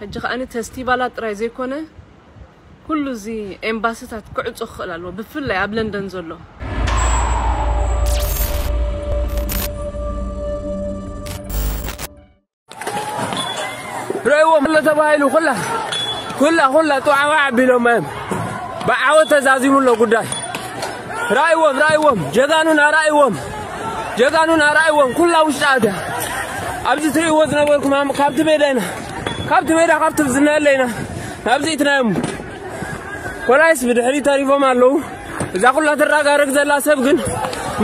ሕጂ ከኣኒ ፌስቲቫላት ጥራይ ዘይኮነ፣ ኩሉ እዚ ኤምባሲታት ክዕጾ ክኽእል ኣለዎ፣ ብፍላይ ኣብ ለንደን ዘሎ። ረእይዎም ኣሎ ተባሂሉ፣ ኩላ ኩላ ኩላ ጡዓዋ ኣቢሎም እዮም። ብዓወት ተዛዚሙ ኣሎ ጉዳይ። ራእይዎም፣ ራእይዎም፣ ጀጋኑና ራእይዎም፣ ጀጋኑና ራእይዎም፣ ኩላ ውሽጢ ኣትያ። ኣብዚ ትርእይዎ ዝነበርኩም ኣም-፣ ካብቲ ሜዳ ኢና፣ ካብቲ ሜዳ፣ ካብቲ ዝነለ ኢና ናብዚ እትናዮም። ኮላይስ ብድሕሪ ተሪፎም ኣለዉ። እዛ ኩላ ትራጋረግ ዘላ ሰብ ግን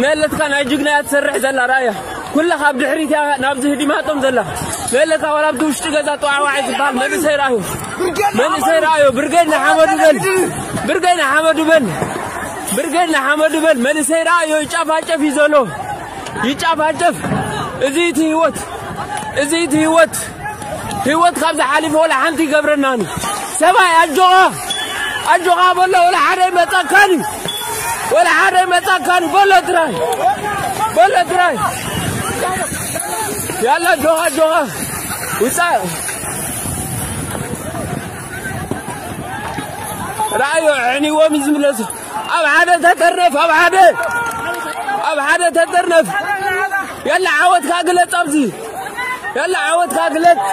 መለትካ ናይ ጅግና እያ ትሰርሕ ዘላ ራእያ። ኩላ ካብ ድሕሪት እያ ናብዚ ህዲማቶም ዘላ። መለካ ዋላ ኣብቲ ውሽጢ ገዛ ጠዋዕዋዕ ዝበሃል መንእሰይ ራእዮ። መንእሰይ ራእዮ። ብርጌድ ንሓመዱ በል። ብርጌድ ንሓመዱ በል። ብርጌድ ንሓመዱ በል። መንእሰይ ራእዮ ይጫፋጨፍ እዩ ዘሎ። ይጫፋጨፍ። እዚ እቲ ህይወት። እዚ እቲ ህይወት። ህይወት ካብ ዝሓሊፈ ወላ ሓንቲ ይገብረናን እዩ። ሰብኣይ ኣጆኻ። ኣጆኻ በሎ፣ ወላ ሓደ ይመጻካን እዩ። ወላ ሓደ ይመጻካን እዩ። በሎ ጥራይ። በሎ ጥራይ። ያላ ኣጆኻ፣ ኣጆኻ። ውጻእ። ራእዮ ኣዕንዎም እዩ ዝምለሱ። ኣብ ሓደ ተጠርነፍ፣ ኣብ ሓደ። ኣብ ሓደ ተጠርነፍ። ያላ ዓወትካ ግለጽ ኣብዚ። ያላ ዓወትካ ግለጽ።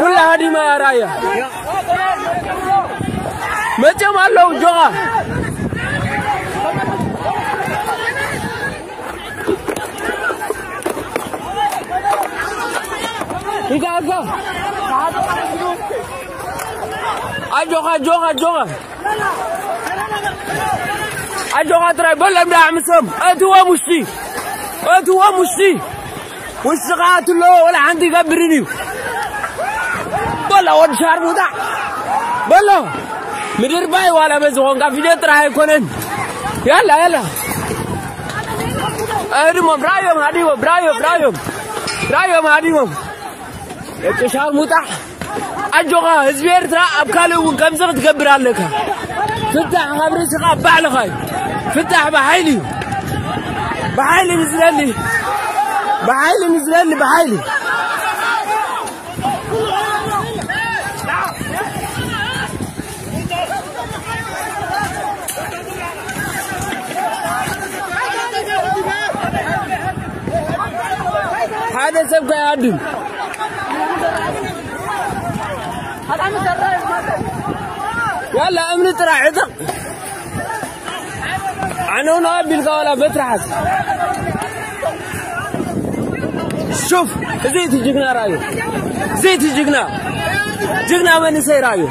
ኩላ ሃዲማ ራያ። መጽዮም ኣለዉ ጆኻ። እንካ፣ እንካ። ኣጆኻ፣ ኣጆኻ፣ ኣጆኻ። ኣጆኻ ጥራይ በሎም ደኣ ኣዕምሶም። ኣእትዎም ውሽጢ። ኣእትዎም ውሽጢ። ውሽጢ ከኣ ኣትሎ ወላ ሓንቲ ይገብርን እዩ። በሎ ወዲ ሻርሙጣ። በሎ። ምድር ባይ ዋላ በዚ ኾንካ ቪድዮ ጥራይ ኣይኮነን። ያላ፣ ያላ። ኣህድሞም፣ ራእዮም፣ ሃዲሞም፣ ራእዮም፣ ራእዮም። ራእዮም፣ ሃዲሞም። ደቂ ሻርሙጣ፣ ኣጆኻ፣ ህዝቢ ኤርትራ ኣብ ካልእ እውን ከምዚ ክትገብር ኣለካ። ፍታሕ ካብ ርእስኻ ኣብ ባዕልኻ እዩ። ፍታሕ ብሓይሊ እዩ። ብሓይሊ ንዝደሊ፣ ብሓይሊ ንዝደሊ፣ ብሓይሊ። ሓደ ሰብ ከይሃድም። ያላ እምኒ ጥራሕ ዕጠቕ። ዓነውነው ኣቢልካ ዋላ በትሪ ሓዝ። ሹፍ፣ እዚ እቲ ጅግና ራእዩ። እዚ እቲ ጅግና። ጅግና መንእሰይ ራእዩ።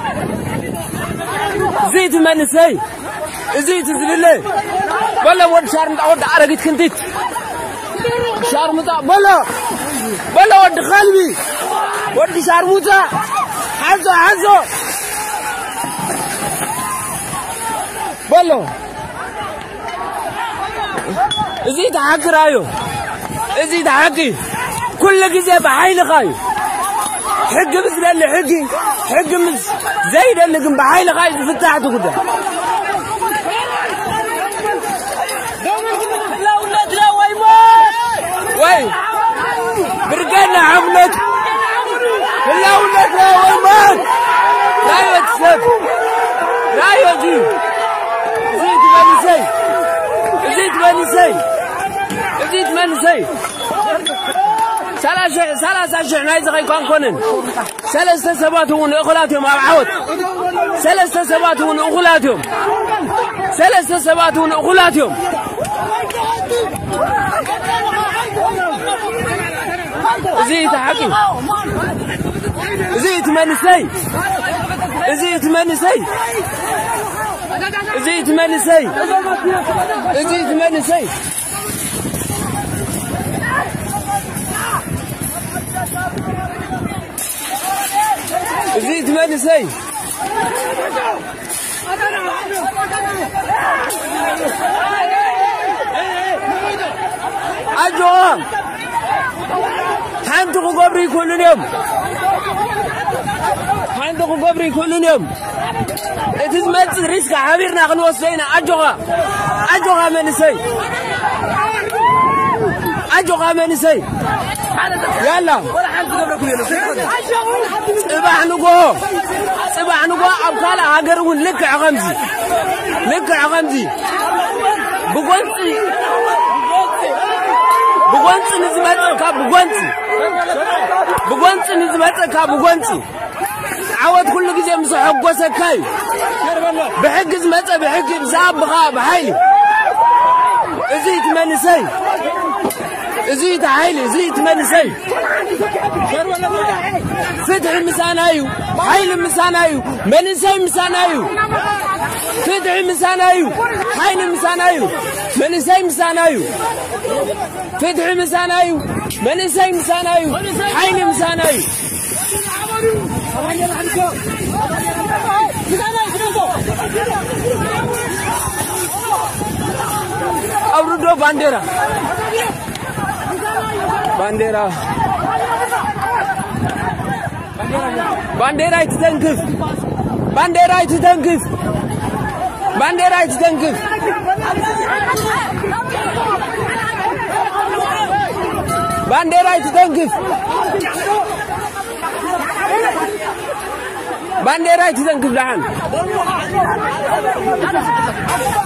እዚ እቲ መንእሰይ። እዚ እቲ ዝድለ። በሎ ወዲ ሻርሙጣ፣ ወዲ ኣረጊት ክንቲት። ሻርሙጣ፣ በሎ። በሎ ወዲ ከልቢ። ወዲ ሻርሙጣ። ሓዞ፣ ሓዞ። በሎ። እዚ እቲ ሓቂ ራእዩ። እዚ እቲ ሓቂ። ኩሉ ግዜ ብሓይልኻ እዩ። ሕጊ ምስ ደሊ ሕጊ፣ ሕጊ ምስ ዘይደሊ ግን ብሓይልኻ እዩ ዝፍታሕ እቲ ጉዳይ። ህላውነትና ወይ ሞት! ወይ ብርጌድ ንሓምነት! ህላውነትና ወይ ሞት! ራእዮ እቲ ሰብ! ራእዮ እዚ! እዚ እቲ መንእሰይ! እዚ እቲ መንእሰይ! እዚ እቲ መንእሰይ! ሰላሳ ሺሕ፣ ሰላሳ ሺሕ ናይዚ ከይኮንኮንን። ሰለስተ ሰባት እውን እኹላት እዮም ኣብ ዓወት። ሰለስተ ሰባት እውን እኹላት እዮም። ሰለስተ ሰባት እውን እኹላት እዮም። እዚ እቲ ሓቂ። እዚ እቲ መንእሰይ። እዚ እቲ መንእሰይ። እዚ እቲ መንእሰይ። እዚ እቲ መንእሰይ። እዚ እቲ መንእሰይ። ኣጆኻ። ሓንቲ ክገብሩ ይክእሉን እዮም። ሓንቲ ክገብሩ ይክእሉን እዮም። እቲ ዝመጽእ ሪስክ ሓቢርና ክንወስዶ ኢና። ኣጆኻ። ኣጆኻ መንእሰይ። ኣጆኻ መንእሰይ። ያላ፣ ጽባሕ ንጎ፣ ጽባሕ ንጎ ኣብ ካልእ ሃገር እውን ልክዕ ከምዚ፣ ልክዕ ከምዚ ብጎንጺ፣ ብጎንጺ ንዝመጸካ ብጎንጺ፣ ብጎንጺ ንዝመጸካ ብጎንጺ። ዓወት ኩሉ ግዜ ምስ ኣሐጎሰካ እዩ። ብሕጊ ዝመጸ ብሕጊ፣ ብዝኣብ ብኻ ብሓይሊ። እዚ እቲ መንእሰይ፣ እዚ እቲ ሓይሊ፣ እዚ እቲ መንእሰይ። ፍትሒ ምሳና እዩ፣ ሓይሊ ምሳና እዩ፣ መንእሰይ ምሳና እዩ። ፍትሒ ምሳና እዩ፣ ሓይሊ ምሳና እዩ፣ መንእሰይ ምሳና እዩ። ፍትሒ ምሳና እዩ፣ መንእሰይ ምሳና እዩ፣ ሓይሊ ምሳና እዩ። ኣውርዶ ባንዴራ፣ ባንዴራ፣ ባንዴራ ኣይትተንክፍ፣ ባንዴራ ኣይትተንክፍ፣ ባንዴራ ኣይትተንክፍ፣ ባንዴራ ኣይትተንክፍ። ባንዴራ ኣይትተንክፍ ደሓን።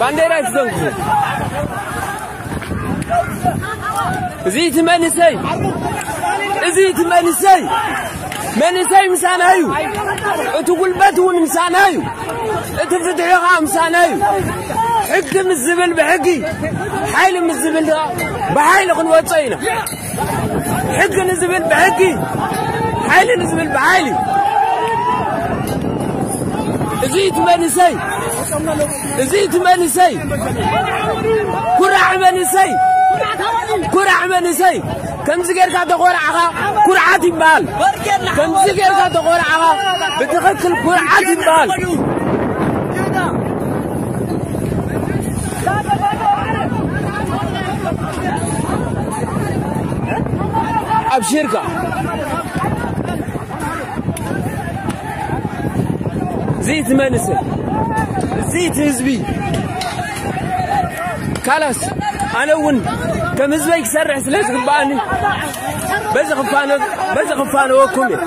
ባንዴራ ኣይትተንክፍ። እዚ እቲ መንእሰይ፣ እዚ እቲ መንእሰይ፣ መንእሰይ ምሳና እዩ። እቲ ጉልበት እውን ምሳና እዩ። እቲ ፍትሒ ኸዓ ምሳና እዩ። ሕጊ ምስ ዝብል ብሕጊ፣ ሓይሊ ምስ ዝብል ከዓ ብሓይሊ ክንወጾ ኢና። ሕጊ ንዝብል ብሕጊ፣ ሓይሊ ንዝብል ብሓይሊ። እዚ እቲ መንእሰይ፣ እዚ እቲ መንእሰይ፣ ኩራዕ መንእሰይ፣ ኩራዕ መንእሰይ። ከምዚ ጌርካ ተኾራዕኻ ኩርዓት ይበሃል። ከምዚ ጌርካ ተኾራዕኻ ብትኽክል ኩርዓት ይበሃል። ኣብሽርካ። እዚ እቲ መንእሰይ፣ እዚ እቲ ህዝቢ። ካላስ፣ ኣነ እውን ከም ህዝበይ ክሰርሕ ስለ ዝግብኣኒ፣ በዚ ክፋነ-፣ በዚ ክፋነወኩም እየ።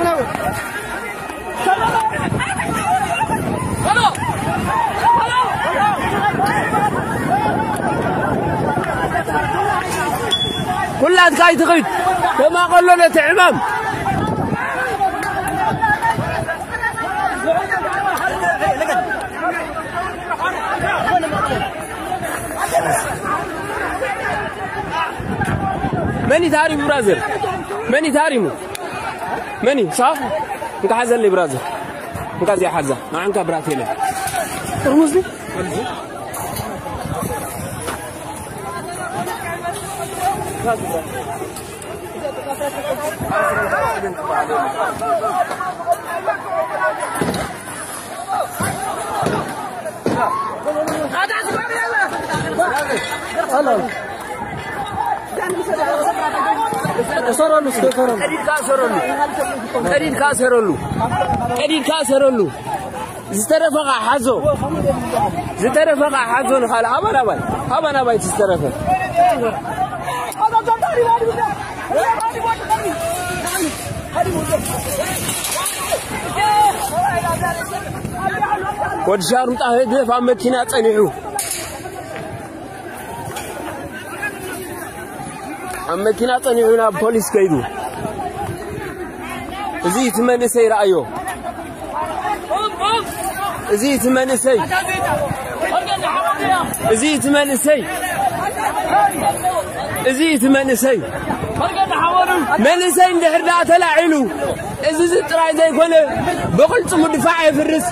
ኩላትካ ኣይትኺድ፣ ተማቐሎ ነቲ ዕማም። መን እዩ ተሃሪሙ ብራዘር? መን እዩ ተሃሪሙ? መን እዩ? ሳ? እንካ ሓዘለይ ብራዘር። እንካ እዚኣ ሓዛ። ንዓንካ ብራት የለን። ጥርሙዝ ድዩ? እሰረሉ፣ እስከ እሰረሉ። ቀዲድካ እሰረሉ። ቀዲድካ እሰረሉ። ቀዲድካ እሰረሉ። ዝተረፈ ኸዓ ሓዞ። ዝተረፈ ኸዓ ሓዞ ንኻልእ። ሃባ ናባይ። ሃባ ናባይ እቲ ዝተረፈ። ወዲ ሻርሙጣ ህግደፍ ኣብ መኪና ጸኒሑ። ኣብ መኪና ጸኒሑ ናብ ፖሊስ ከይዱ። እዚ እቲ መንእሰይ ረኣዮ። እዚ እቲ መንእሰይ፣ እዚ እቲ መንእሰይ፣ እዚ እቲ መንእሰይ፣ መንእሰይ እንድሕር ደኣ ተላዒሉ፣ እዚ፣ እዚ ጥራይ ዘይኮነ፣ ብቕልጽሙ ድፋዕ የፍርስ፣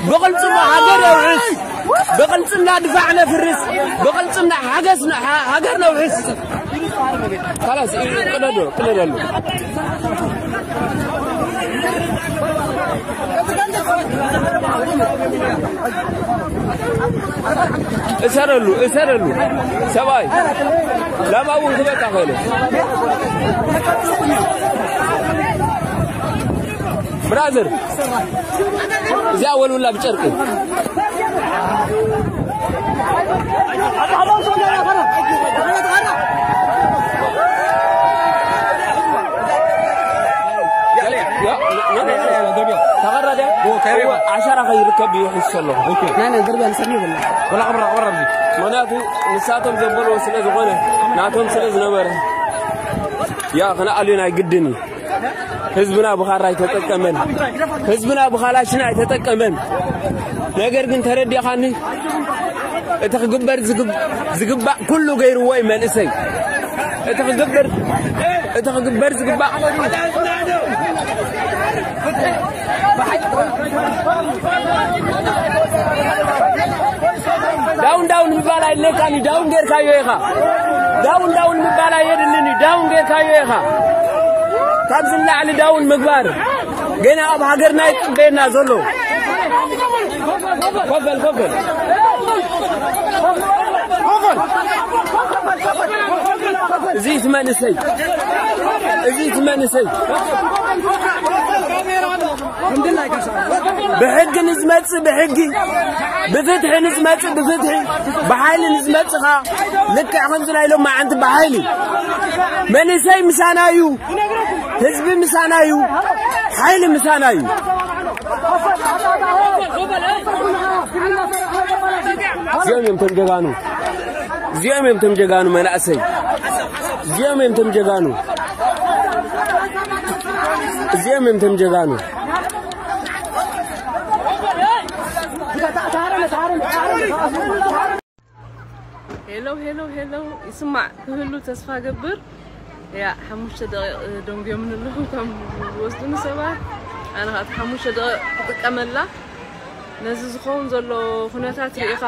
ብቕልጽሙ ሃገር የውሕስ፣ ብቕልጽምና ድፋዕ ነፍርስ፣ ብቕልጽምና ሓገስ ነ-፣ ሃ-፣ ሃገር ነውሕስ። ካላስ፣ ቅደዶ፣ ቅደደሉ። እሰረሉ፣ እሰረሉ። ሰብኣይ፣ ላማ እውን ክበቃ ኸእለ። ብራዘር፣ እዚኣ ወልውላ ብጨርቂ። ተቐረደ። እዎ፣ ዓሻራ ከይርከብ እዩ ሒሱ ዘሎ። ናይ ናይ ደርቢያ ንሰኒ ይብላ። ወላ ቅብራ፣ ቅብራ ኣብዚ። ምኽንያቱ ንሳቶም ዘበልዎ ስለ ዝኾነ፣ ናቶም ስለ ዝነበረ፣ ያ፣ ክንኣልዮን ኣይግድን እዩ። ህዝብና ብኻራ ኣይተጠቀመን። ህዝብና ብኻላሽን ኣይተጠቀመን። ነገር ግን ተረዲኻኒ፣ እቲ ክግበር ዝግብ-፣ ዝግባእ ኩሉ ገይርዎ እዩ መንእሰይ። እቲ ክግበር፣ እቲ ክግበር ዝግባእ ዳውን ዳውን ምባል ኣይድለካን እዩ። ዳውን ጌርካዮ ኢኻ። ዳውን ዳውን ምባል ኣየድልን እዩ። ዳውን ጌርካዮ ኢኻ። ካብዚ ንላዕሊ ዳውን ምግባር ገና ኣብ ሃገርና ይጽበየና ዘሎ። ኮፍ በል፣ ኮፍ በል። እዚ እቲ መንእሰይ፣ እዚ እቲ መንእሰይ ብሕጊ ንዝመጽእ ብሕጊ፣ ብፍትሒ ንዝመጽእ ብፍትሒ፣ ብሓይሊ ንዝመጽእ ኸኣ ልክዕ ከምዚ ናይ ሎማዓንቲ ብሓይሊ። መንእሰይ ምሳና እዩ፣ ህዝቢ ምሳና እዩ፣ ሓይሊ ምሳና እዩ። እዚኦም እዮም እቶም ጀጋኑ፣ እዚኦም እዮም እቶም ጀጋኑ መናእሰይ፣ እዚኦም እዮም እቶም ጀጋኑ፣ እዚኦም እዮም እቶም ጀጋኑ። ሄሎ ሄሎ ሄሎ፣ ይስማዕ ክህሉ ተስፋ ገብር። ያ፣ ሓሙሽተ ደቂቕ ደንጉዮምኒ ኣለዉ እቶም ዝወስዱኒ ሰባት። ኣነ ኸኣ እቲ ሓሙሽተ ደቂቕ ክጥቀመላ። ነዚ ዝኸውን ዘሎ ኩነታት ርኢኻ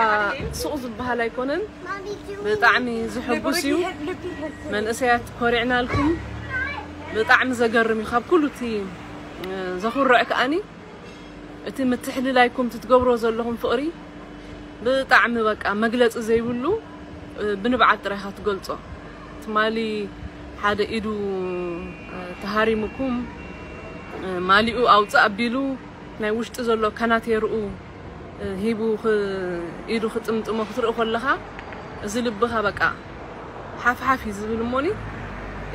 ሱቕ ዝበሃል ኣይኮነን። ብጣዕሚ ዝሕጉስ እዩ። መንእሰያት ኮሪዕናልኩም። ብጣዕሚ ዘገርም እዩ። ካብ ኩሉ እቲ ዘኹርዕ ከኣኒ እቲ ምትሕልላይኩም፣ እቲ ትገብሮ ዘለኹም ፍቕሪ ብጣዕሚ በቃ መግለጺ ዘይብሉ፣ እ፣ ብንብዓት ጥራይ ኢኻ ትገልጾ። ትማሊ ሓደ ኢዱ፣ እ፣ ተሃሪሙኩም፣ እ፣ ማሊኡ ኣውጽእ ኣቢሉ ናይ ውሽጢ ዘሎ ካናቴርኡ፣ እ፣ ሂቡ ክ-፣ ኢዱ ክጥምጥሞ ክትርኢ ከለኻ፣ እዚ ልብኻ በቃ ሓፍ ሓፍ እዩ ዝብል እሞኒ።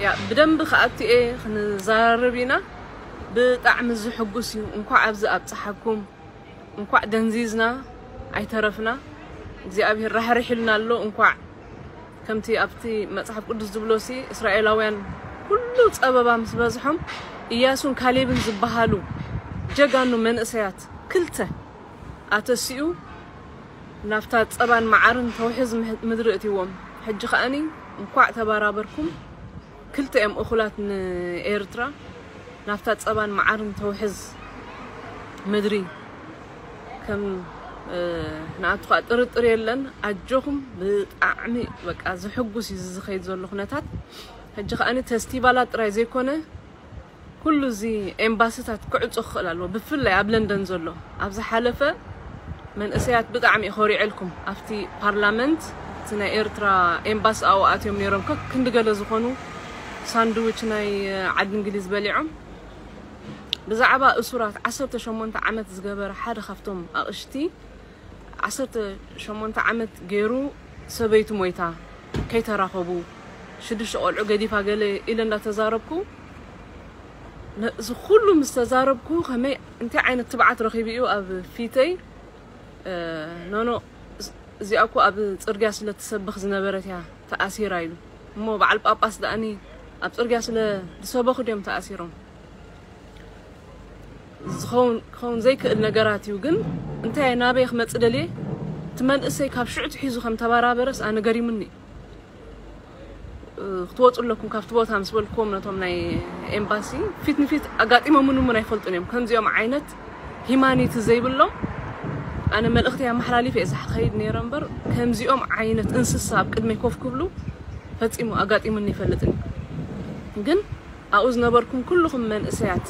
ያ፣ ብደንቢ ክኣቱ እየ፣ ክንዘራረብ ኢና። ብጣዕሚ ዝሕጉስ እዩ። እንኳዕ ኣብዚ ኣብጽሓኩም። እንኳዕ ደንዚዝና ኣይተረፍና። እግዚኣብሔር ራሕሪሕ ኢልና ኣሎ። እንኳዕ ከምቲ ኣብቲ መጽሓፍ ቅዱስ ዝብሎሲ እስራኤላውያን ኩሉ ጸበባ ምስ በዝሖም፣ ኢያሱን ካሌብን ዝበሃሉ ጀጋኑ መንእሰያት ክልተ ኣተሲኡ ናብታ ጸባን መዓርን ተውሕዝ ምህ-፣ ምድሪ እትዎም። ሕጂ ከኣኒ እንኳዕ ተባራበርኩም። ክልተ እዮም እኹላት ንኤርትራ ናብታ ጸባን መዓርን ተውሕዝ ምድሪ ከም፣ እ፣ ንኣቱ ኸኣ ጥርጥር የለን። ኣጆኹም፣ ብጣዕሚ በቃ ዝሕጉስ እዩ እዚ ዝኸይድ ዘሎ ኩነታት። ሕጂ ከኣኒ ፌስቲቫላት ጥራይ ዘይኮነ ኩሉ እዚ ኤምባስታት ክዕጾ ክኽእል ኣለዎ፣ ብፍላይ ኣብ ለንደን ዘሎ። ኣብ ዝሓለፈ መንእሰያት ብጣዕሚ እዩ ኮሪዐልኩም። ኣብቲ ፓርላመንት እቲ ናይ ኤርትራ ኤምባሲ ኣብኡ ኣትዮም ነይሮም፣ ከክንዲ ገለ ዝኾኑ ሳንድዊች ናይ ዓዲ እንግሊዝ በሊዖም። ብዛዕባ እሱራት ዓሰርተ ሸሞንተ ዓመት ዝገበረ ሓደ ካብቶም ኣቕሽቲ ዓሰርተ ሸሞንተ ዓመት ገይሩ ሰበይቱ ሞይታ፣ ከይተራኸቡ፣ ሽዱሽተ ቆልዑ ገዲፋ ገለ ኢለ እንዳተዛረብኩ፣ ነዚ ኩሉ ምስ ተዛረብኩ፣ ከመይ፣ እንታይ ዓይነት ትብዓት ረኺቡ እዩ ኣብ ፊተይ፣ እ፣ ኖኖ፣ እዚኣ እኮ ኣብ ጽርግያ ስለ ትሰብኽ ዝነበረት እያ ተኣሲራ ኢሉ። እሞ በዓል ጳጳስ ደኣኒ ኣብ ጽርግያ ስለ ዝሰበኹ ድዮም ተኣሲሮም? ዝኸውን ክኸውን ዘይክእል ነገራት እዩ። ግን እንታይ ናበይ ክመጽእ ደልየ? እቲ መንእሰይ ካብ ሽዑ ትሒዙ ከም ተበራበረስ ኣነ ገሪሙኒ። እ፣ ክትወጹ ኣለኩም ካብቲ ቦታ ምስ በልኩዎም ነቶም ናይ ኤምባሲ ፊት ንፊት ኣጋጢሞምኒ እውን ኣይፈልጡን እዮም። ከምዚኦም ዓይነት ሂማኒቲ ዘይብሎም ኣነ መልእኽቲ ኣመሓላሊፈ እየ ዝኸይድ ነይረ እምበር ከምዚኦም ዓይነት እንስሳ ኣብ ቅድመይ ኮፍ ክብሉ ፈጺሙ ኣጋጢሙኒ ይፈልጥን እዩ። ግን ኣብኡ ዝነበርኩም ኩልኹም መንእሰያት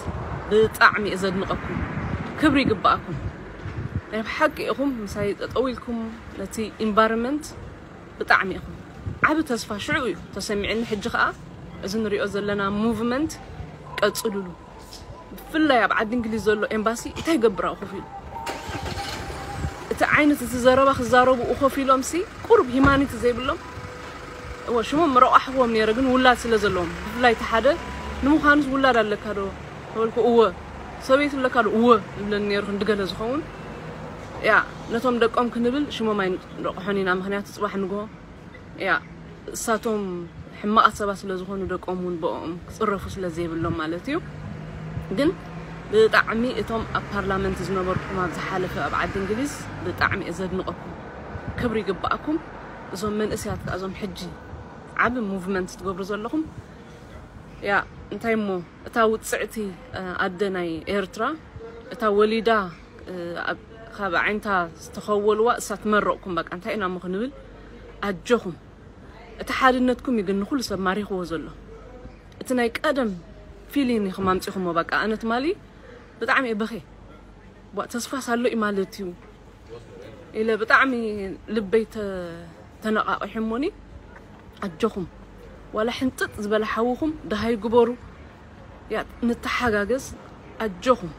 ብጣዕሚ እየ ዘድንቐኩም። ክብሪ ይግባኣኩም። ናይ ብሓቂ ኢኹም ምሳይ ጠጠው ኢልኩም ነቲ ኢንቫይሮንመንት ብጣዕሚ ኢኹም። ዓቢ ተስፋ ሽዑ እዩ ተሰሚዕኒ። ሕጂ ኸኣ እዚ ንሪኦ ዘለና ሙቭመንት ቀጽሉሉ። ብፍላይ ኣብ ዓዲ እንግሊዝ ዘሎ ኤምባሲ እንታይ ይገብር ኣብኡ ኮፍ ኢሉ? እቲ ዓይነት እቲ ዘረባ ክዛረቡ ኮፍ ኢሎምሲ ቁሩብ ሂማኒቲ ዘይብሎም። እወ፣ ሽሞም ምረቋሕዎም ነይረ፣ ግን ውላድ ስለ ዘለዎም፣ ብፍላይ እቲ ሓደ፣ ንምዃኑስ ውላድ ኣለካ ዶ? ተበልኩ፣ እወ። ሰበይቲ ኣለካ ዶ? እወ ይብለኒ ነይሩ። ክንዲ ገለ ዝኸውን፣ ያ፣ ነቶም ደቆም ክንብል ሽሞም ኣይንረቕሖን ኢና። ምኽንያቱ ጽባሕ ንግሆ፣ ያ፣ እሳቶም ሕማቓት ሰባት ስለ ዝኾኑ ደቆም እውን ብኦም ክጽረፉ ስለ ዘይብሎም ማለት እዩ። ግን ብጣዕሚ እቶም ኣብ ፓርላመንት ዝነበርኩም ኣብ ዝሓለፈ ኣብ ዓዲ እንግሊዝ ብጣዕሚ እየ ዘድንቐኩም። ክብሪ ይግባኣኩም። እዞም መንእሰያት ከኣ እዞም ሕጂ ዓቢ ሙቭመንት ትገብሩ ዘለኹም፣ ያ፣ እንታይ እሞ እታ ውጽዕቲ፣ እ፣ ኣደ ናይ ኤርትራ፣ እታ ወሊዳ፣ እ፣ ኣብ፣ ካብ ዓይንታ ዝተኸወልዋ እሳ ትመረቕኩም። በቃ እንታይ ኢና እሞ ክንብል? ኣጆኹም። እቲ ሓድነትኩም እዩ ግን ንኹሉ ሰብ ማሪኽዎ ዘሎ። እቲ ናይ ቀደም ፊሊን ኢኹም ኣምጺኹሞ። በቃ ኣነ ትማሊ ብጣዕሚ እየ በኽየ። ዋ፣ ተስፋስ ኣሎ እዩ ማለት እዩ ኢለ ብጣዕሚ ልበይ ተ-፣ ተነቓቒሑ እሞኒ። ኣጆኹም፣ ዋላ ሕንጥጥ ዝበለ ሓውኹም ደሃይ ግበሩ። ያ፣ ንተሓጋገዝ። ኣጆኹም፣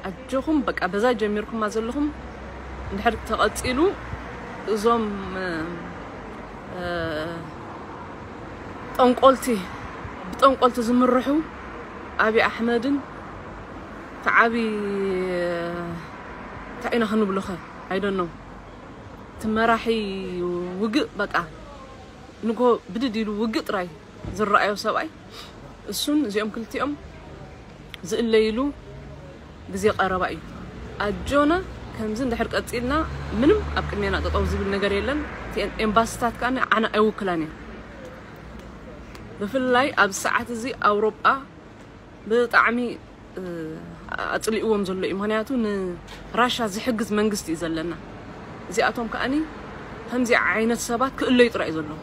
ኣጆኹም። በቃ በዛ ጀሚርኩማ ዘለኹም እንድሕር ተቐጺሉ እዞም፣ እ፣ እ፣ ጠንቆልቲ፣ ብጠንቆልቲ ዝምርሑ፣ ኣቢ ኣሕመድን እቲ ዓቢ፣ እንታይ ኢና ክንብሎ ኸ? I don't know። እቲ መራሒ ውግእ፣ በቃ፣ ንጎ ብድድ ኢሉ ውግእ ጥራይ ዝረኣዮ ሰብኣይ፣ እሱን እዚኦም ክልቲኦም ዝእለይሉ ግዜ ቀረባ እዩ። ኣጆና፣ ከምዚ እንድሕር ቀጺልና፣ ምንም ኣብ ቅድሜና ጠጠው ዝብል ነገር የለን። እቲአን ኤምባሲታት ከኣ ዓና ኣይውክላን እየን። ብፍላይ ኣብ ሰዓት እዚ ኣውሮጳ ብጣዕሚ፣ እ፣ ኣጽሊእዎም ዘሎ እዩ። ምኽንያቱ ንራሻ ዝሕግዝ መንግስቲ እዩ ዘለና። እዚኣቶም ከኣኒ ከምዚ ዓይነት ሰባት ክእለዩ ጥራይ እዩ ዘለዎም።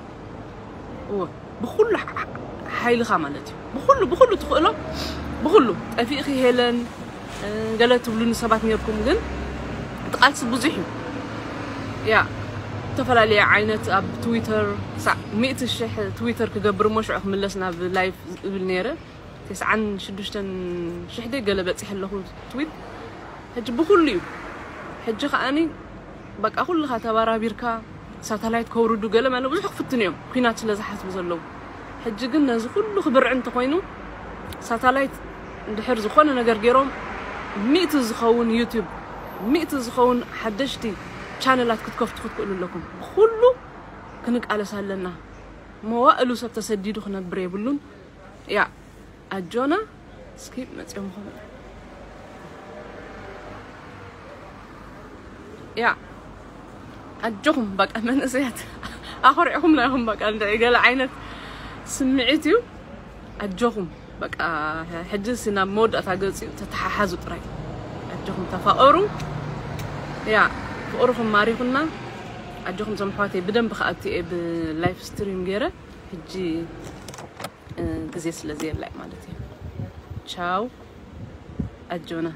እወ፣ ብኹሉ ሓ-፣ ሓይልኻ ማለት እዩ። ብኹሉ፣ ብኹሉ ትኽእሎ፣ ብኹሉ። ጠፊእኺ ሄለን፣ እ፣ ገለ ትብሉኒ ሰባት ነርኩም፣ ግን እቲ ቃልሲ ብዙሕ እዩ። ያ፣ ዝተፈላለየ ዓይነት ኣብ ትዊተር ክሳዕ ሚእቲ ሽሕ ትዊተር ክገብር እሞ ሽዑ ክምለስ ናብ ላይፍ ዝብል ነይረ። ተስዓን ሽዱሽተን ሽሕ ደይ ገለ በጺሐ ኣለኹ ትዊት። ሕጂ ብኹሉ እዩ። ሕጂ ከኣኒ በቃ ኩልኻ ተባራቢርካ ሳተላይት ከውርዱ ገለ ማለት ብዙሕ ክፍትኑ እዮም፣ ኲናት ስለ ዝሓስቡ ዘለዉ። ሕጂ ግን ነዚ ኩሉ ክብርዕ እንተኾይኑ፣ ሳተላይት እንድሕር ዝኾነ ነገር ገይሮም፣ ሚእቲ ዝኸውን ዩቱብ፣ ሚእቲ ዝኸውን ሓደሽቲ ቻነላት ክትከፍቱ ክትክእሉ ኣለኩም። ብኹሉ ክንቃለስ ኣለና። መዋእሉ ሰብ ተሰዲዱ ክነብር የብሉን። ያ፣ ኣጆና። እስኪ መጽዮም ኾነ፣ ያ፣ ኣጆኹም በቃ መንእሰያት፣ ኣኾሪዕኹምና ኢኹም። በቃ እንደ ገለ ዓይነት ስምዒት እዩ። ኣጆኹም በቃ። ሕጂ ሲ ናብ መወዳእታ ገጽ እዩ። ተተሓሓዙ ጥራይ። ኣጆኹም ተፋቐሩ። ያ፣ ፍቕርኹም ማሪኹና። ኣጆኹም ዞም ኣሕዋተይ፣ ብደንብ ከኣቲ እየ ብላይፍ ስትሪም ገይረ። ሕጂ፣ እ፣ ግዜ ስለ ዘየላይ ማለት እዩ። ቻው ኣጆና።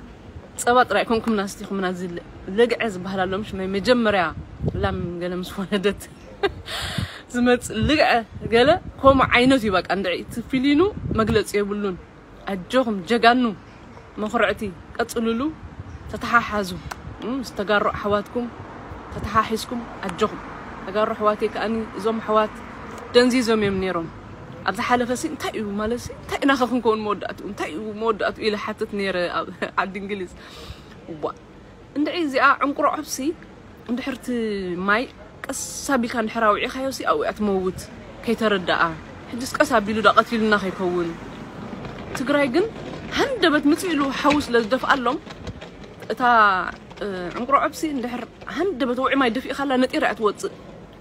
ጸባ ጥራይ ኮንኩምና ስቲኹምና፣ እዚ ል-፣ ልግዐ ዝበሃል ኣሎ፣ ምሽ ናይ መጀመርያ ላም ገለ ምስ ወለደት ዝመጽእ ልግዐ ገለ ከምኡ ዓይነት እዩ። በቃ እንድዒ እቲ ፊሊኑ መግለጺ የብሉን። ኣጆኹም ጀጋኑ፣ መኹርዕቲ፣ ቀጽልሉ። ተተሓሓዙ፣ እም፣ ምስ ተጋሩ ኣሕዋትኩም ተተሓሒዝኩም ኣጆኹም። ተጋሩ ኣሕዋተይ ከኣኒ፣ እዞም ኣሕዋት ደንዚዞም እዮም ነይሮም። ኣብ ዝሓለፈ ሲ እንታይ እዩ ማለት ሲ፣ እንታይ ኢና ኸ ክንከውን መወዳእትኡ? እንታይ እዩ መወዳእትኡ ኢለ ሓትት ነይረ ኣብ ዓዲ እንግሊዝ። እዋ፣ እንድዒ እዚኣ ዕንቁሮ ዐብሲ እንድሕር እቲ ማይ ቀስ ኣቢልካ እንድሕር ኣውዒኻዮ ሲ ኣብኡ እያ ትመውት፣ ከይተረድኣ። ሕጅስ ቀስ ኣቢሉ ዳ ቀቲሉና ከይከውን። ትግራይ ግን ሃንደበት ምጽእ ኢሉ ሓዊ ስለ ዝደፍኣሎም፣ እታ፣ እ፣ ዕንቁሮ ዐብሲ እንድሕር ሃንደበት ውዒ ማይ ደፊእካላ ነጢራ እያ ትወጽእ።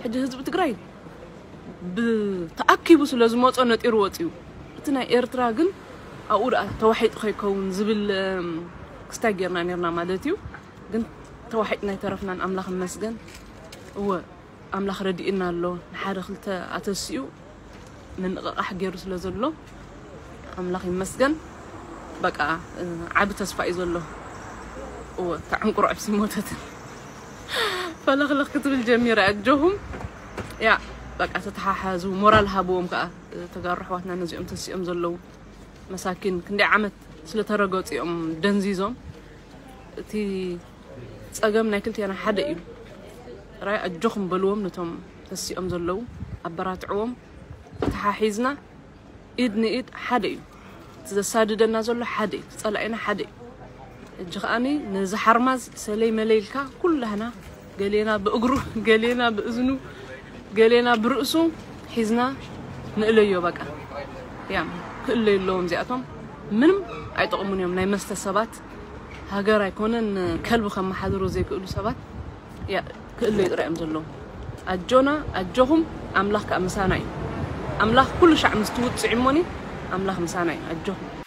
ሕጂ ህዝቢ ትግራይ ብተኣኪቡ ስለ ዝመጾ ነጢሩ ወጺኡ። እቲ ናይ ኤርትራ ግን ኣብኡ ደኣ ተዋሒጡ ከይከውን ዝብል፣ እም፣ ክስታይ ጌርና ኔርና ማለት እዩ። ግን ተዋሒጥና ኣይተረፍናን፣ ኣምላኽ ይመስገን። እወ፣ ኣምላኽ ረዲእና ኣሎ። ንሓደ ክልተ ኣተሲኡ ምንቕቓሕ ገይሩ ስለ ዘሎ ኣምላኽ ይመስገን። በቃ፣ እ፣ ዓቢ ተስፋ እዩ ዘሎ። እወ፣ እታ ዕንቁሮ ዐብሲ ሞተትን ፈለኽለኽ ክትብል ጀሚራ። ኣጆኹም፣ ያ፣ በቃ፣ ተተሓሓዙ፣ ሞራል ሃብዎም ከኣ፣ እ፣ ተጋሩ ኣሕዋትና ነዚኦም ተሲኦም ዘለዉ መሳኪን ክንደይ ዓመት ስለ ተረገጹ እዮም ደንዚዞም። እቲ ጸገም ናይ ክልቴና ሓደ እዩ። ራይ ኣጆኹም በልዎም፣ ነቶም ተሲኦም ዘለዉ ኣበራትዕዎም። ተተሓሒዝና ኢድ ንኢድ ሓደ እዩ። እቲ ዘሳድደና ዘሎ ሓደ እዩ፣ እቲ ጸላኢና ሓደ እዩ። ሕጂ ከዓኒ ነዚ ሓርማዝ ሰለይ መለይ ኢልካ ኩላህና ገሌና ብእግሩ ገሌና ብእዝኑ ገሌና ብርእሱ ሒዝና ንእለዮ። በቃ ያ ክእለዩ ኣለዎም። እዚኣቶም ምንም ኣይጠቕሙን እዮም። ናይ መስተ ሰባት ሃገር ኣይኮነን ከልቢ ከመሓድሩ ዘይክእሉ ሰባት ያ ክእለዩ ጥራይ እዮም ዘለዎም። ኣጆና ኣጆኹም። ኣምላኽ ከዓ ምሳና እዩ። ኣምላኽ ኩሉ ሻዕ ምስ ትውፅዕ እሞኒ ኣምላኽ ምሳና እዩ። ኣጆኹም።